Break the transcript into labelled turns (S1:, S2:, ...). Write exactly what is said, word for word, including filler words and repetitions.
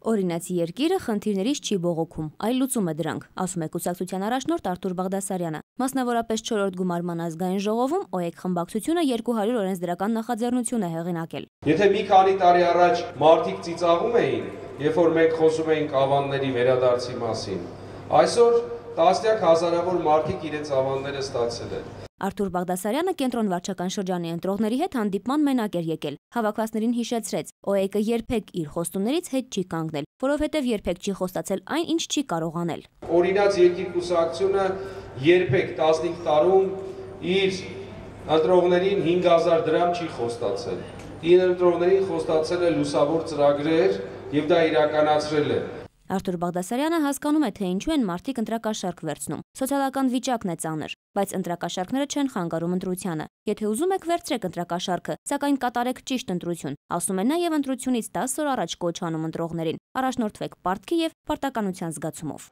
S1: Օրինացի երկիրը խնդիրներից չի բողոքում, այլ լուծում է դրանք, ասում է կուսակցության առաջնորդ Արթուր Բաղդասարյանը։ Մասնավորապես չորրորդ գումարման ազգային ժողովում ՕԵԿ խմբակցությունը երկու հարյուր օրենսդրական նախաձեռնություն է հեղինակել։
S2: Եթե մի քանի տարի առաջ մարդիկ ծիծաղում էին, երբ որ մենք խոսում էինք ավանների վերադարձի մասին, այսօր տասնյակ հազարավոր մարդիկ իրենց ավանները ստացել են։
S1: Արթուր Բաղդասարյանը կենտրոն վարչական շրջանի ընտրողների հետ հանդիպման մենակ էր եկել։ Հավաքվածներին հիշեցրեց, ՕԵԿ-ը երբեք իր խոստումներից հետ չի կանգնել, որովհետև երբեք չի խոստացել այն, ինչ չի կարող անել։
S2: Օրինաց երկիր կուսակցությունը երբեք տասնհինգ տարում իր ընտրողներին հինգ հազար դրամ չի խոստացել։ Իր ընտրողներին խոստացել է լուսավոր ծրագրեր եւ դա իրականացրել է։
S1: Արթուր Բաղդասարյանը հասկանում է, թե ինչու են մարդիկ ընտրակաշարք վերցնում։ Սոցիալական վիճակն է ծանր, բայց ընտրակաշարքները չեն խանգարում ընտրությանը։ Եթե ուզում եք, վերցրեք ընտրակաշարքը, սակայն կատարեք ճիշտ ընտրություն, ասում է նաև ընտրությունից տասը օր առաջ կոչ անում ընտրողներին։ Առաջնորդվեք պարտքի եւ պարտականության զգացումով։